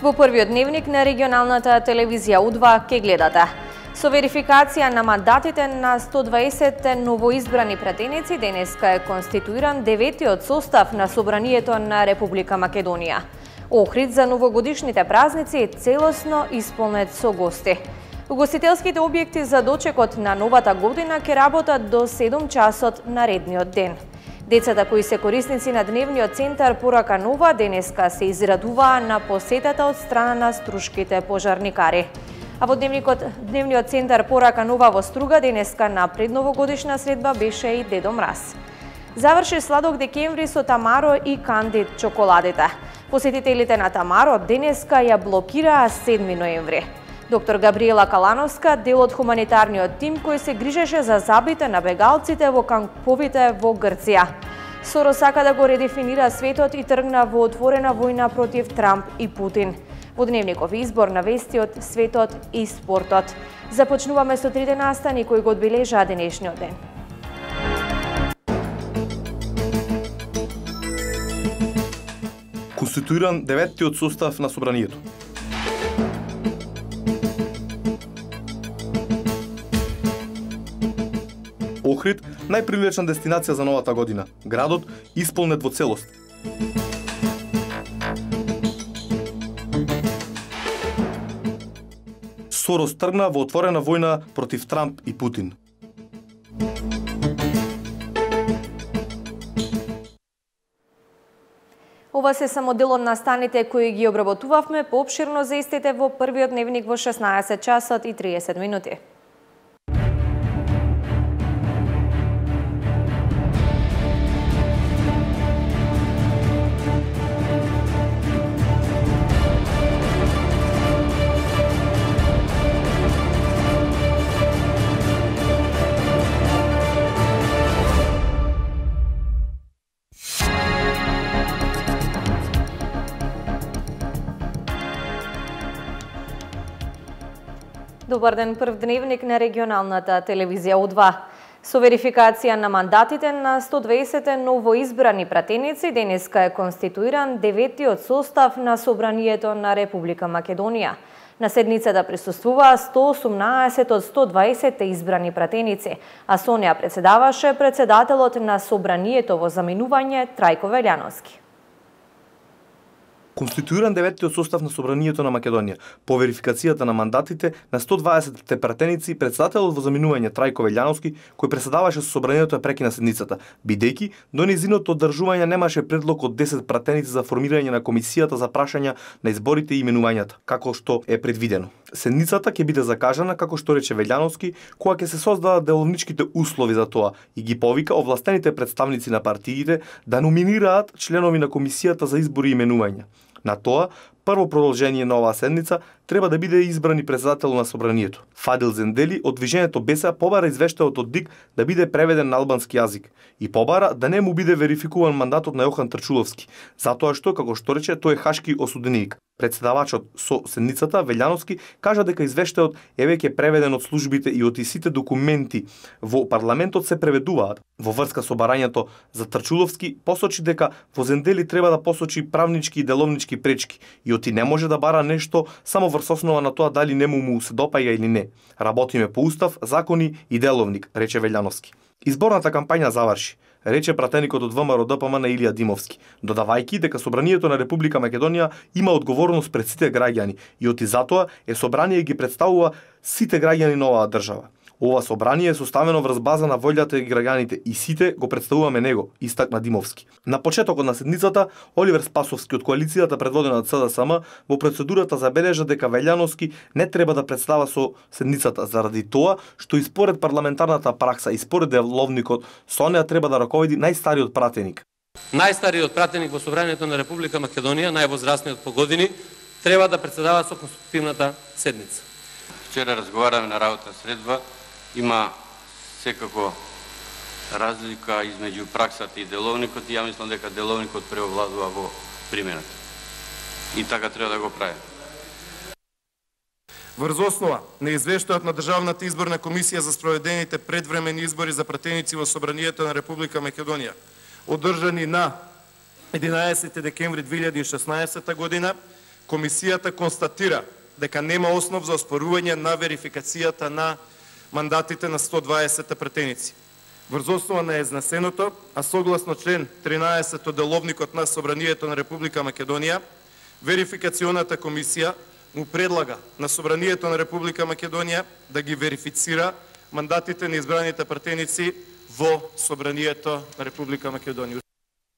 Во првиот дневник на регионалната телевизија У2 ке гледате. Со верификација на мандатите на 120 новоизбрани пратеници, денеска е конституиран 9-тиот состав на Собранието на Република Македонија. Охрид за новогодишните празници целосно исполнет со гости. Угостителските објекти за дочекот на новата година ќе работат до 7 часот наредниот ден. Децата кои се корисници на дневниот центар Порака нова денеска се израдуваа на посетата од страна на струшките пожарникари. А во дневниот центар Порака нова во Струга денеска на предновогодишна средба беше и Дедо Мраз. Заврши сладок декември со Тамаро и Кандид чоколадите. Посетителите на Тамаро денеска ја блокираа 7 ноември. Доктор Габриела Калановска, дел од хуманитарниот тим кој се грижеше за забите на бегалците во камповите во Грција. Сорос сака да го редефинира светот и тргна во отворена војна против Трамп и Путин. Во дневников избор на вести од светот и спортот. Започнуваме со трите настани кои го одбележаа денешниот ден. Конституиран 9-тиот состав на Собранието. Охрид, најпривлечна дестинација за новата година. Градот исполнет во целост. Сорос тргна во отворена војна против Трамп и Путин. Ова се само дел од настаните кои ги обработувавме, поопширно за истите во првиот дневник во 16 часот и 30 минути. Добар ден, прв дневник на регионалната телевизија У2. Со верификација на мандатите на 120 новоизбрани пратеници, денеска е конституиран 9-тиот состав на Собранието на Република Македонија. На седницата присуствуваа 118 од 120 избрани пратеници, а со неа председаваше председателот на Собранието во заменување Трајко Велјановски. Конституиран 9-тиот состав на Собранието на Македонија. По верификацијата на мандатите на 120 пратеници, председателот во заминување Трајко Велјановски, кој преседаваше со Собранието, ја прекина седницата, бидејќи до нејзиното одржување немаше предлог од 10 пратеници за формирање на комисијата за прашања на изборите и именувањата, како што е предвидено. Седницата ќе биде закажана, како што рече Велјановски, кога ќе се создадат деловничките услови за тоа и ги повика овластените представници на партиите да номинираат членови на комисијата за избори и именувања. На тоа, прво продолжение на оваа седница треба да биде избрани председател на Собранието. Фадил Зендели од Движењето БЕСА побара извештајот од ДИК да биде преведен на албански јазик и побара да не му биде верификуван мандатот на Јохан Трчуловски, затоа што, како што рече, тој е хашки осуденик. Председавачот со седницата Велјановски кажа дека извештајот е веќе преведен од службите и од сите документи во парламентот се преведуваат. Во врска со барањето за Трчуловски посочи дека во Зендели треба да посочи правнички и деловнички пречки и оти не може да бара нешто само врз основа на тоа дали му се допаѓа или не. Работиме по устав, закони и деловник, рече Велјановски. Изборната кампања заврши, рече пратеникот од ВМРО ДПМН Илија Димовски, додавајќи дека Собранието на Република Македонија има одговорност пред сите граѓани и оти затоа е собрание ги представува сите граѓани на оваа држава. Ова собрание е составено врз база на волјата и граѓаните и сите го представуваме него, истакна Димовски. На почетокот на седницата, Оливер Спасовски од коалицијата предводена од СДСМ во процедурата забележа дека Велјановски не треба да представа со седницата заради тоа што и според парламентарната пракса и според деловникот со неа треба да раководи најстариот пратеник. Најстариот пратеник во Собранието на Република Македонија, највозрастниот по години, треба да председава со конститутивната седница. Вчера разговараме на работна средба. Има секако разлика измеѓу праксата и деловникот и ја мислам дека деловникот преовладува во примената. И така треба да го прави. Врз основа на извештајот на Државната изборна комисија за спроведените предвремени избори за пратеници во Собранието на Република Македонија, одржани на 11 декември 2016 година, комисијата констатира дека нема основ за оспорување на верификацијата на мандатите на 120 пратеници. Врз основа на изнесеното, а согласно член 13 од деловникот на Собранието на Република Македонија, верификационата комисија му предлага на Собранието на Република Македонија да ги верифицира мандатите на избраните пратеници во Собранието на Република Македонија.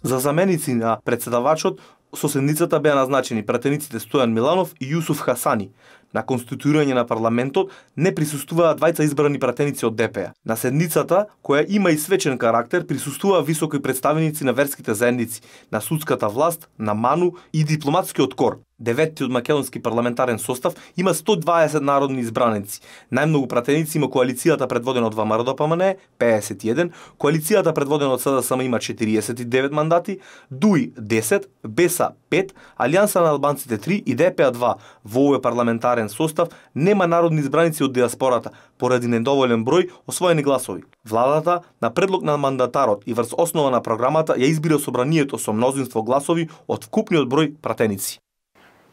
За заменици на председавачот со седницата беа назначени пратениците Стојан Миланов и Јусуф Хасани. На конституирање на парламентот не присуствуваа двајца избрани пратеници од ДП. На седницата, која има и свечен карактер, присуствуваа високи представеници на верските заедници, на судската власт, на МАНУ и дипломатскиот кор. Деветиот македонски парламентарен состав има 120 народни избраници. Најмногу пратеници има коалицијата предводена од ВМРО-ДПМНЕ 51, коалицијата предводена од СДСМ има 49 мандати, ДУИ 10, БЕСА 5, Алијанса на албанците 3 и ДПА 2. Во овој парламентарен состав нема народни избраници од диаспората поради недоволен број освоени гласови. Владата на предлог на мандатарот и врз основа на програмата ја избира собранието со мнозинство гласови од вкупниот број пратеници.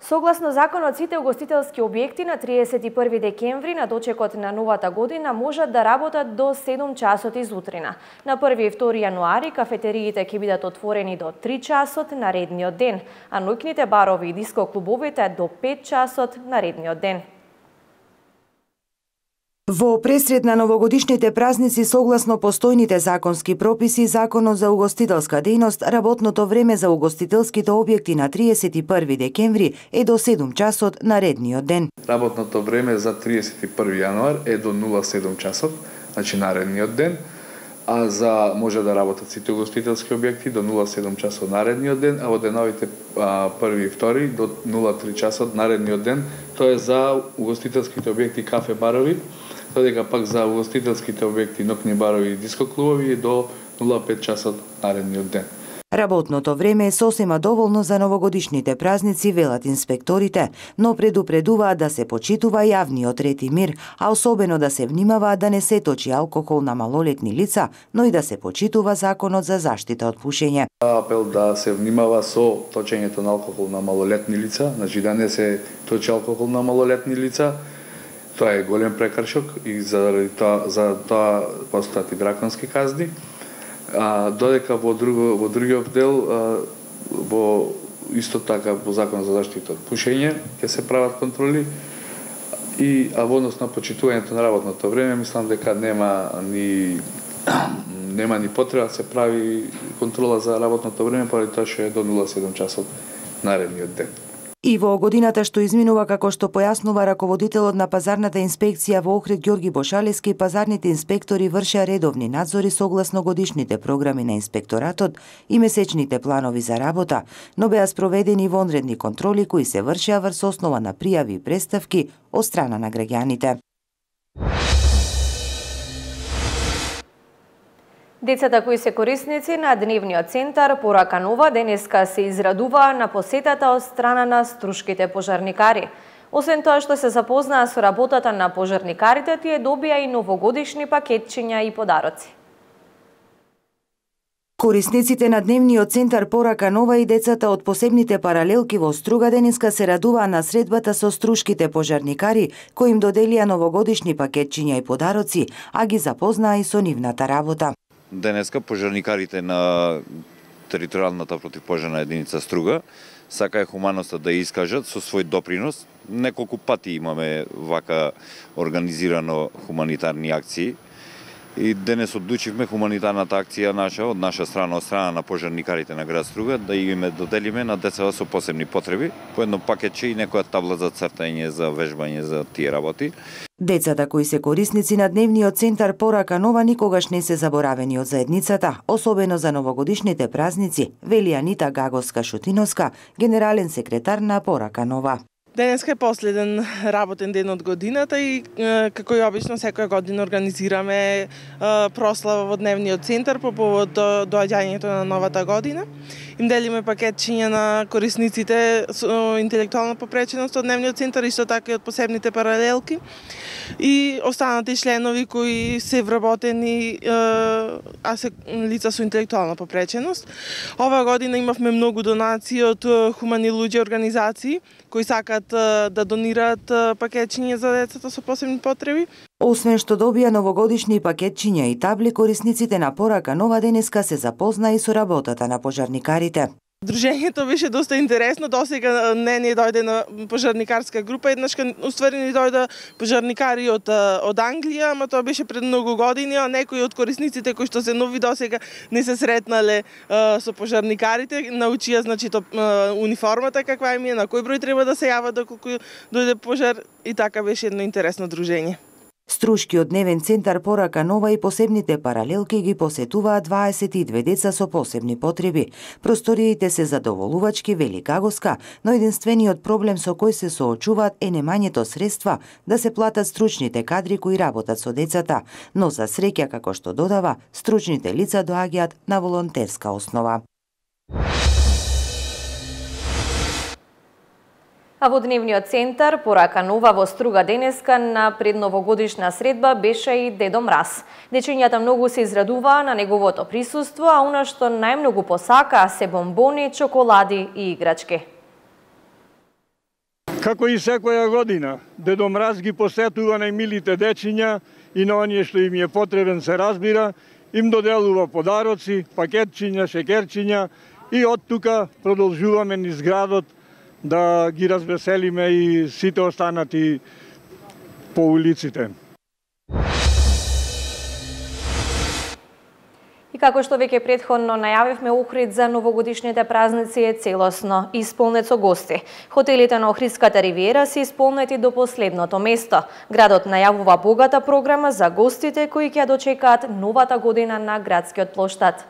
Согласно законот, сите угостителски објекти на 31 декември на дочекот на новата година можат да работат до 7 часот изутрина. На 1 и 2 јануари кафетериите ќе бидат отворени до 3 часот наредниот ден, а ноќните барови и диско клубовите до 5 часот наредниот ден. Во пресред на новогодишните празници, согласно постојните законски прописи, Законот за угостителска дејност, работното време за угостителските објекти на 31 декември е до 7 часот наредниот ден. Работното време за 31 јануар е до 07 часот, значи наредниот ден, а за може да работат сите угостителски објекти до 07 часот наредниот ден, а во деновите 1 и 2 до 03 часот наредниот ден, тоа е за угостителските објекти кафе барови, додека пак за угостителските објекти ноќни барови и диско клубови до 05 часот наредниот ден. Работното време е сосема доволно за новогодишните празници, велат инспекторите, но предупредуваат да се почитува јавниот ред и мир, а особено да се внимава да не се точи алкохол на малолетни лица, но и да се почитува законот за заштита од пушење. Апел да се внимава со точењето на алкохол на малолетни лица, значи да не се точи алкохол на малолетни лица. Тоа е голем прекршок и за тоа постојат и драконски казни. Додека во другиот дел, во исто така во Закон за заштита од пушење ќе се прават контроли а во однос на почитувањето на работното време, мислам дека нема ни потреба да се прави контрола за работното време, поради тоа што е до 07 часот наредниот ден. И во годината што изминува, како што појаснува раководителот на пазарната инспекција во Охрид Ѓорги Бошалевски, пазарните инспектори вршеа редовни надзори согласно годишните програми на инспекторатот и месечните планови за работа, но беа спроведени вонредни контроли кои се вршеа врз основа на пријави и преставки од страна на граѓаните. Децата кои се корисници на дневниот центар Порака Нова денеска се израдуваа на посетата од страна на струшките пожарникари. Освен тоа што се запознаа со работата на пожарникарите, тие добија и новогодишни пакетчиња и подароци. Корисниците на дневниот центар Порака Нова и децата од посебните паралелки во Струга денеска се радуваа на средбата со струшките пожарникари, кои им доделија новогодишни пакетчиња и подароци, а ги запознаа и со нивната работа. Денеска пожарникарите на територијалната противпожарна единица Струга сакаја хуманоста да искажат со свој допринос. Неколку пати имаме вака организирано хуманитарни акции и денес одлучивме хуманитарната акција од наша страна, од страна на пожарникарите на град Струга, да им доделиме на деца со посебни потреби, по едно пакетче и некоја табла за цртање, за вежбање за тие работи. Децата кои се корисници на дневниот центар Порака Нова никогаш не се заборавени од заедницата, особено за новогодишните празници, вели Анита Гаговска-Шутиновска, генерален секретар на Порака Нова. Денеска е последен работен ден од годината и како и обично секоја година организираме прослава во дневниот центар по повод доаѓањето на новата година. им делиме пакетчиња на корисниците со интелектуална попреченост од дневниот центар, исто така и од посебните паралелки. И останати членови кои се вработени, а се лица со интелектуална попреченост. Ова година имавме многу донации од хумани луѓе организации кои сакаат да донираат пакетчиња за децата со посебни потреби. Освен што добија новогодишни пакетчиња и табли, корисниците на порака Нова денеска се запозна и со работата на пожарникарите. Дружењето беше доста интересно, досега не дојде на пожарникарска група, еднаш уствари ни дојде пожарникари од Англија, ама тоа беше пред многу години, а некои од корисниците кои што се нови досега не се сретнале со пожарникарите, научија значи униформата каква им е, на кој број треба да се јава доколку дојде пожар, и така беше едно интересно дружење. Струшкиот дневен центар Порака Нова и посебните паралелки ги посетуваат 22 деца со посебни потреби. Просториите се задоволувачки, вели Гагоска, но единствениот проблем со кој се соочуваат е немањето средства да се платат стручните кадри кои работат со децата, но за среќа, како што додава, стручните лица доаѓаат на волонтерска основа. А во дневниот центар Порака Нова во Струга денеска на предновогодишна средба беше и Дедо Мраз. Дечињата многу се израдуваа на неговото присуство, а она што најмногу посакаа се бомбони, чоколади и играчки. Како и секоја година, Дедо Мраз ги посетува најмилите дечиња и на оние што им е потребен, се разбира, им доделува подароци, пакетчиња, шекерчиња и од тука продолжуваме низ градот да ги развеселиме и сите останати по улиците. И како што веќе претходно најавивме, Охрид за новогодишните празници е целосно исполнет со гости. Хотелите на Охридската ривиера се исполнети до последното место. Градот најавува богата програма за гостите кои ќе дочекаат новата година на градскиот плоштад.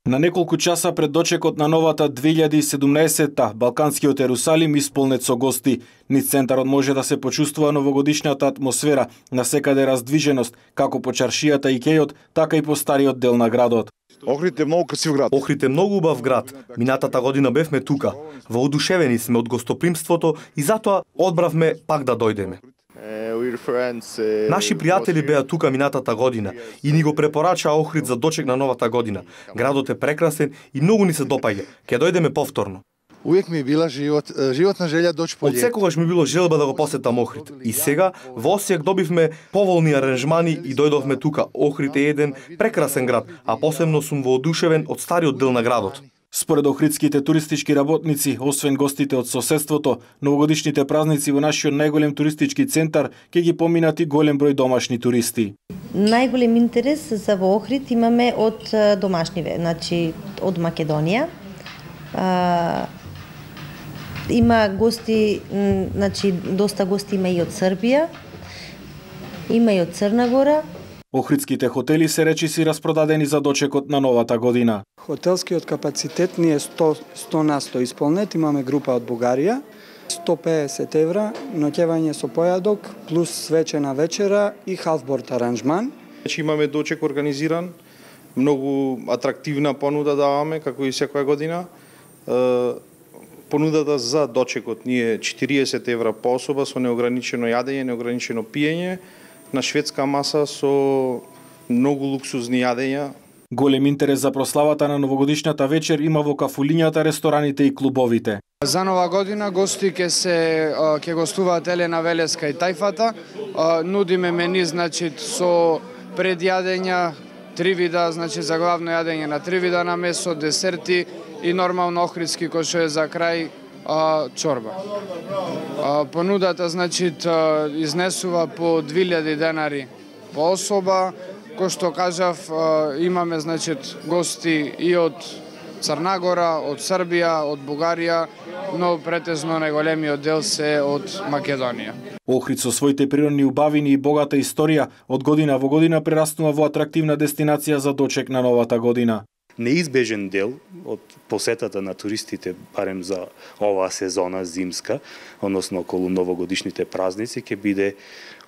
На неколку часа пред дочекот на новата 2017-та, Балканскиот Ерусалим исполнет со гости. Низ центарот може да се почувствува новогодишната атмосфера, насекаде раздвиженост, како по чаршијата и кејот, така и по стариот дел на градот. Охрид е многу красив град. Охрид е многу убав град. Минатата година бевме тука. Воодушевени сме од гостопримството и затоа одбравме пак да дојдеме. Наши пријатели беа тука минатата година и ни го препорачаа Охрид за дочек на новата година. Градот е прекрасен и многу ни се допаѓа. Ќе дојдеме повторно. Увек ми била животна желја дојчи по лет. Од секогаш ми било желба да го посетам Охрид. И сега во Осијак добивме поволни аранжмани и дојдовме тука. Охрид е еден прекрасен град, а посебно сум воодушевен од стариот дел на градот. Според охридските туристички работници, освен гостите од соседството, новогодишните празници во нашиот најголем туристички центар ќе ги поминат и голем број домашни туристи. Најголем интерес за во Охрид имаме од домашни, значи од Македонија. Има гости, значи доста гости има и од Србија, има и од Црна Гора. Охридските хотели се речиси распродадени за дочекот на новата година. Хотелскиот капацитет ни е 100 на 100 исполнет, имаме група од Бугарија, 150 евра, ноќевање со појадок, плюс свечена вечера и халфборд аранжман. Имаме дочек организиран, многу атрактивна понуда даваме, како и секоја година. Понудата за дочекот ни е 40 евра по особа со неограничено јадење, неограничено пиење, на шведска маса со многу луксузни јадења. Голем интерес за прославата на новогодишната вечер има во кафулињата, рестораните и клубовите. За нова година гости ќе гостуваат Елена Велеска и Тајфата. Нудиме мени значи со предјадења, 3 вида, значи за главно јадење на 3 вида на месо, десерти и нормално охридски кој што е за крај чорба. Понудата значи изнесува по 2000 денари по особа, кој што кажав имаме значи гости и од Црна Гора, од Србија, од Бугарија, но претежно најголемиот дел се од Македонија. Охрид со своите природни убавини и богата историја од година во година прераснува во атрактивна дестинација за дочек на новата година. Неизбежен дел од посетата на туристите, барем за оваа сезона зимска, односно околу новогодишните празници, ќе биде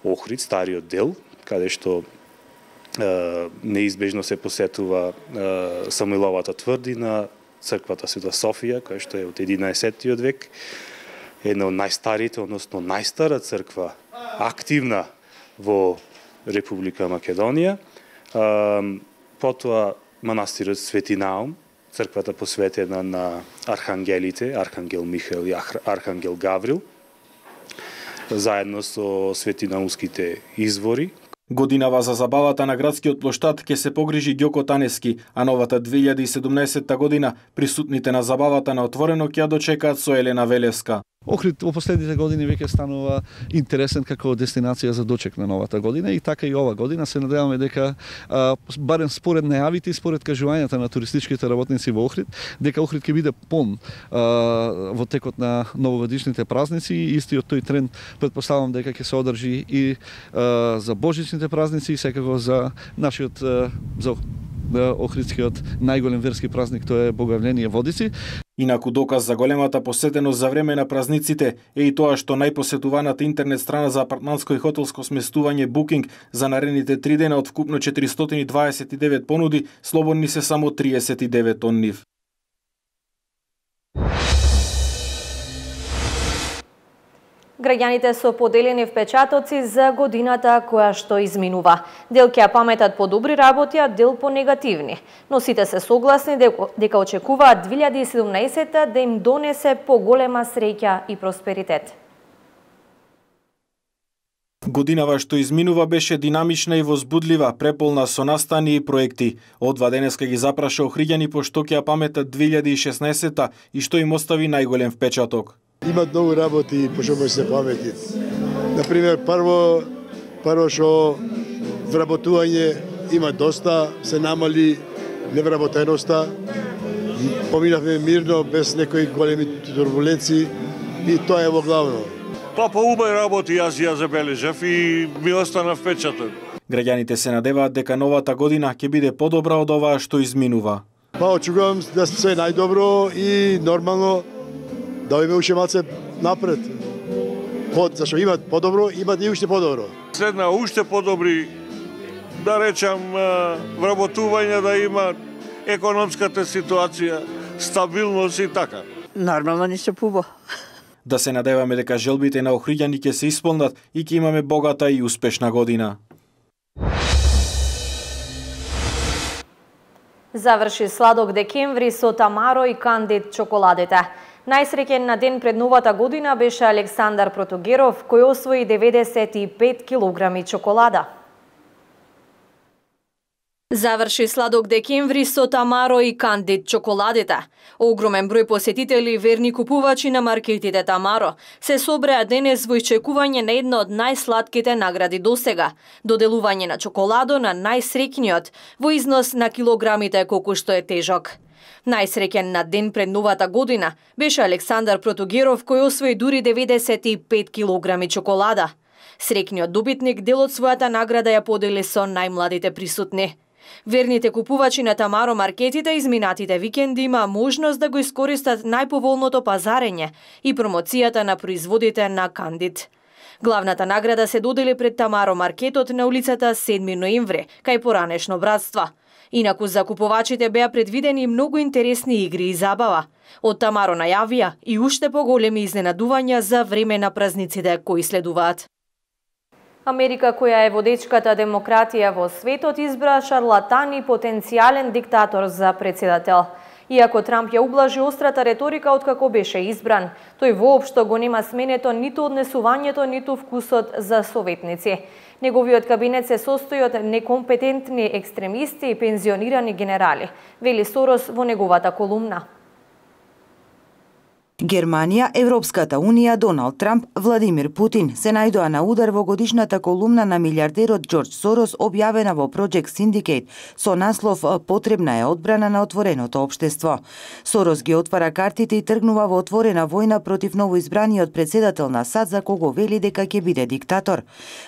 Охрид, стариот дел, каде што неизбежно се посетува Самуиловата тврдина, црквата Света Софија, која што е од 11 век, една од најстарите, односно најстара црква активна во Република Македонија. Потоа манастирот Свети Наум, црквата посветена на архангелите, Архангел Михаил и Архангел Гаврил, заедно со светинаумските извори. Годинава за забавата на градскиот плоштад ќе се погрижи Ѓоко Танески, а новата 2017 година присутните на забавата на отворено ќе ја дочекаат со Елена Велевска. Охрид во последните години веќе станува интересен како дестинација за дочек на новата година и така и ова година се надеваме дека барем според најавите и според кажувањата на туристичките работници во Охрид, дека Охрид ќе биде пон во текот на новогодишните празници и истиот тој тренд претпоставам дека ќе се одржи и за божичните празници и секако за нашиот за охридскиот најголем верски празник, тоа е Богојавление Водици. Инаку доказ за големата посетеност за време на празниците е и тоа што најпосетуваната интернет страна за апартманско и хотелско сместување Booking за наредните 3 дена од вкупно 429 понуди, слободни се само 39 од нив. Граѓаните со поделени впечатоци за годината која што изминува. Дел ќе ја паметат по добри работи, а дел по негативни. Но сите се согласни дека очекуваат 2017 да им донесе поголема среќа и просперитет. Годинава што изминува беше динамична и возбудлива, преполна со настани и проекти. Одва денеска ги запраша охриѓани по што ќе ја паметат 2016 и што им остави најголем впечаток. Има многу работи по што може се памети. Например, прво што вработување има доста, се намали невработеноста, поминавме мирно, без некои големи турбуленции и тоа е во главно. Па по убави работи јас ја забележав и ми остана впечаток. Граѓаните се надеваат дека новата година ќе биде подобра од оваа што изминува. Па очекувам да се најдобро и нормално да име уште малце напред. Зашто имат подобро, имат и уште подобро. Следна уште подобри, да речам, вработување да има, економската ситуација, стабилност и така. Нормално ни се пубо. Да се надеваме дека желбите на охриѓани ќе се исполнат и ќе имаме богата и успешна година. Заврши сладок декември со Тамаро и Кандид чоколадите. Најсреќен на ден пред новата година беше Александар Протогеров, кој освои 95 килограми чоколада. Заврши сладок декември со Тамаро и Кандид чоколадите. Огромен број посетители, верни купувачи на маркетите Тамаро, се собреа денес во исчекување на една од најсладките награди досега, доделување на чоколадо на најсреќниот во износ на килограмите колку што е тежок. Најсреќен на ден пред новата година беше Александар Протогеров, кој освои дури 95 килограми чоколада. Среќниот добитник дел од својата награда ја подели со најмладите присутни. Верните купувачи на Тамаро маркетите изминатите викенди има можност да го искористат најповолното пазарење и промоцијата на производите на Кандид. Главната награда се додели пред Тамаро маркетот на улицата 7 ноември, кај поранешно братство. Инаку за купувачите беа предвидени многу интересни игри и забава. Од Тамаро најавија и уште поголеми изненадувања за време на празниците кои следуваат. Америка, која е водечката демократија во светот, избра шарлатан и потенцијален диктатор за председател. Иако Трамп ја ублажи острата реторика откако беше избран, тој воопшто го нема сменето ниту однесувањето, ниту вкусот за советници. Неговиот кабинет се состои од некомпетентни екстремисти и пензионирани генерали, вели Сорос во неговата колумна. Германија, Европската унија, Доналд Трамп, Владимир Путин се најдоа на удар во годишната колумна на милиардерот Џорџ Сорос, објавена во Project Syndicate со наслов "Потребна е одбрана на отвореното општество". Сорос ги отвара картите и тргнува во отворена војна против новоизбраниот председател на САД, за кого вели дека ќе биде диктатор.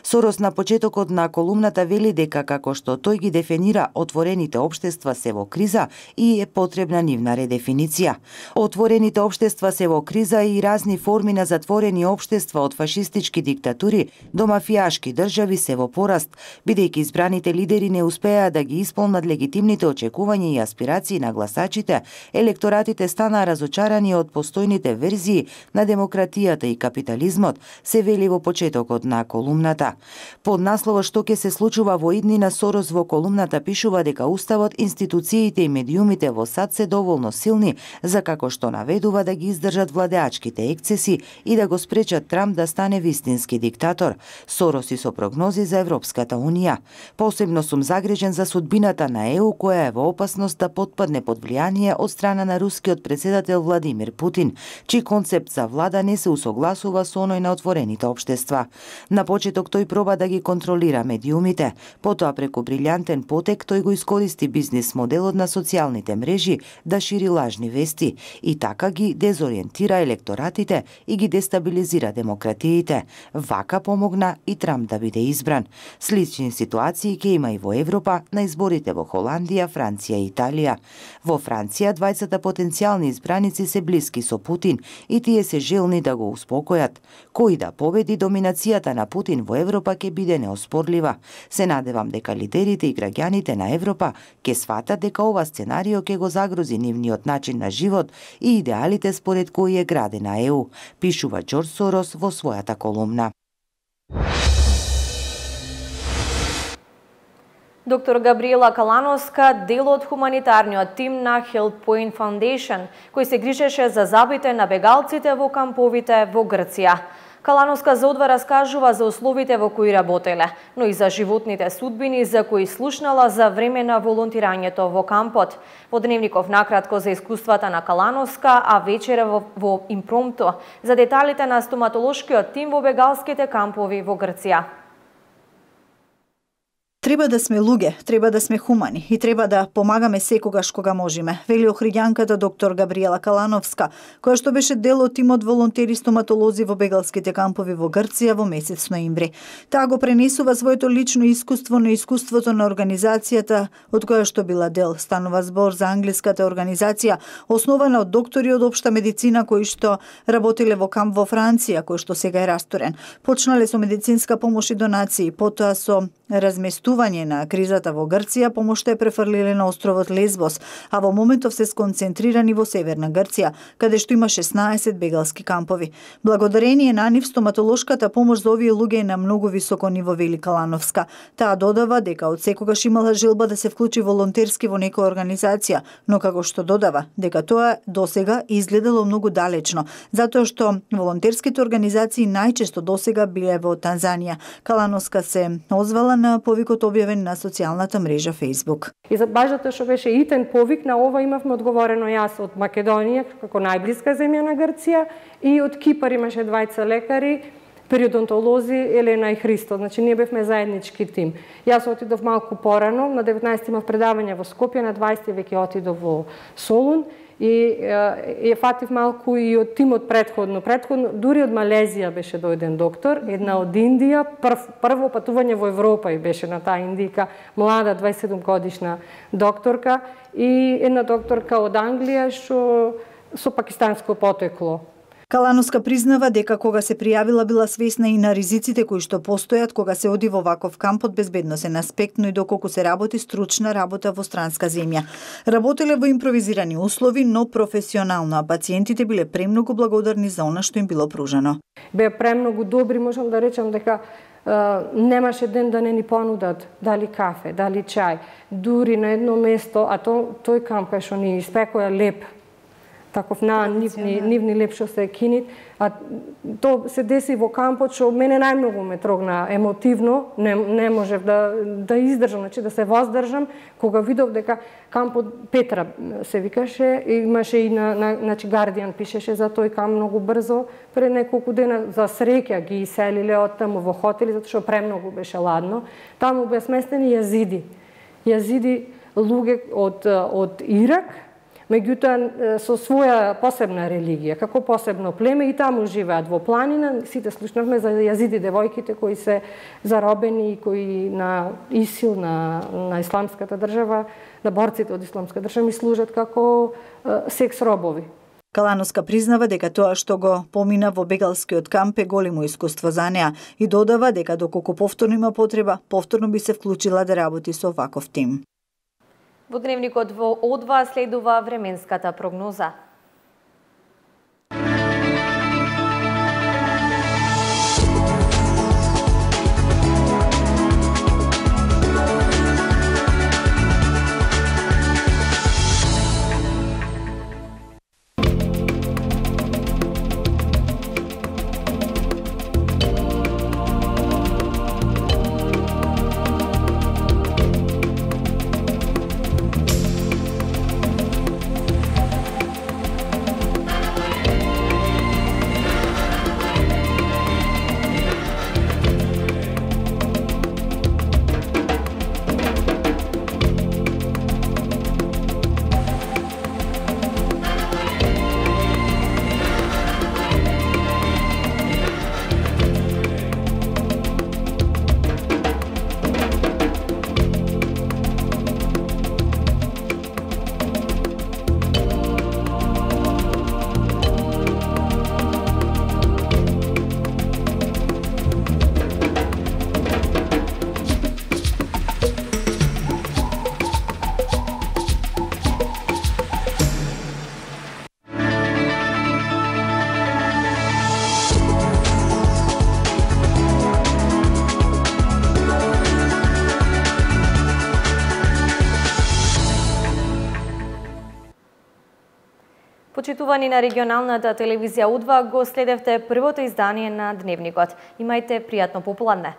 Сорос на почетокот на колумната вели дека како што тој ги дефинира, отворените општества се во криза и е потребна нивна редефиниција. Отворените општества се се во криза и разни форми на затворени општества од фашистички диктатури до мафијашки држави се во пораст, бидејќи избраните лидери не успеа да ги исполнат легитимните очекувања и аспирации на гласачите, електоратите станаа разочарани од постојните верзии на демократијата и капитализмот, се вели во почетокот на колумната. Под наслова "Што ќе се случува во иднина", Сорос во колумната пишува дека уставот, институциите и медиумите во САД се доволно силни за како што наведува да ги издржат владеачките ексцеси и да го спречат Трамп да стане вистински диктатор. Сорос и со прогнози за Европската унија. Посебно сум загрижен за судбината на ЕУ, која е во опасност да потпадне под влијание од страна на рускиот председател Владимир Путин, чиј концепт за влада не се усогласува со оној на отворените општества. На почеток тој проба да ги контролира медиумите, потоа преку брилјантен потек тој го искористи бизнис моделот на социјалните мрежи да шири лажни вести и така ги дезориентира електоратите и ги дестабилизира демократиите. Вака помогна и Трамп да биде избран. Слични ситуации ќе има и во Европа на изборите во Холандија, Франција и Италија. Во Франција двајцата потенцијални избраници се блиски со Путин и тие се желни да го успокојат. Кој да победи, доминацијата на Путин во Европа ќе биде неоспорлива. Се надевам дека лидерите и граѓаните на Европа ќе сватат дека ова сценарио ќе го загрози нивниот начин на живот и идеалите според кои е градена ЕУ, пишува Џорџ Сорос во својата колумна. Доктор Габриела Калановска, дел од хуманитарниот тим на Help Point Foundation, кој се грижеше за забите на бегалците во камповите во Грција. Калановска за одва раскажува за условите во кои работеле, но и за животните судбини за кои слушнала за време на волонтирањето во кампот. Во Дневников накратко за искуствата на Калановска, а вечера во Импромто за деталите на стоматолошкиот тим во бегалските кампови во Грција. Треба да сме луѓе, треба да сме хумани и треба да помагаме секогаш кога можеме, вели охриѓанката доктор Габриела Калановска, која што беше дел од тимот волонтери стоматолози во бегалските кампови во Грција во месец ноември. Таа го пренесува своето лично искуство на искуството на организацијата од која што била дел. Станува збор за англиската организација, основана од доктори од општа медицина кои што работеле во камп во Франција, кој што сега е растурен. Почнале со медицинска помош и донации, потоа со разместување на кризата во Грција, помошта е префрлиле на островот Лесбос, а во моментов се сконцентрирани во северна Грција, каде што има 16 бегалски кампови. Благодарение на нив стоматолошката помош за овие луѓе е на многу високо ниво, вели Калановска. Таа додава дека од секогаш имала желба да се вклучи волонтерски во некоја организација, но како што додава дека тоа досега изгледало многу далечно, затоа што волонтерските организации најчесто досега биле во Танзанија. Калановска се озвала на повикот објавен на социјалната мрежа Facebook. И за баш затоа што беше итен повик, на ова имавме одговорено јас од Македонија, како најблиска земја на Грција, и од Кипар имаше двајца лекари, периодонтолози, Елена и Христо. Значи, ние бевме заеднички тим. Јас отидов малку порано, на 19 имав предавање во Скопје, на 20 веќе отидов во Солун, и ја фатив малку и од тимот предходно. Дури од Малезија беше дојден доктор, една од Индија, прво патување во Европа и беше на таа индика, млада 27 годишна докторка, и една докторка од Англија што со пакистанско потекло. Калановска признава дека кога се пријавила била свесна и на ризиците кои што постојат кога се оди во ваков камп од безбедносен аспект, но и доколку се работи стручна работа во странска земја. Работеле во импровизирани услови, но професионално, а пациентите биле премногу благодарни за она што им било пружено. Беа премногу добри, можам да речам дека немаше ден да не ни понудат дали кафе, дали чај. Дури на едно место, а тој камп кај што ни испекоја леп, таков нивни леп што се кинит, а то се деси во кампот што мене најмногу ме трогна емотивно, не можев да издржам, значи да се воздржам, кога видов дека кампот Петра се викаше, имаше и значи Гардијан пишеше за тој камп многу брзо, пред неколку дена за среќа ги иселиле од таму во хотели, затоа што премногу беше ладно. Таму беа сместени јазиди луѓе од Ирак, меѓутоа со своја посебна религија, како посебно племе, и таму живеат во планина. Сите слушнавме за јазиди девојките кои се заробени и кои на ИСИЛ, на исламската држава, на борците од исламска држава, ми служат како секс робови. Калановска признава дека тоа што го помина во бегалскиот камп е големо искуство за неа и додава дека доколку повторно има потреба, повторно би се вклучила да работи со ваков тим. Во дневникот во О2 следува временската прогноза. Почитувани на регионалната телевизија У2, го следевте првото издание на Дневникот. Имајте пријатно попладне.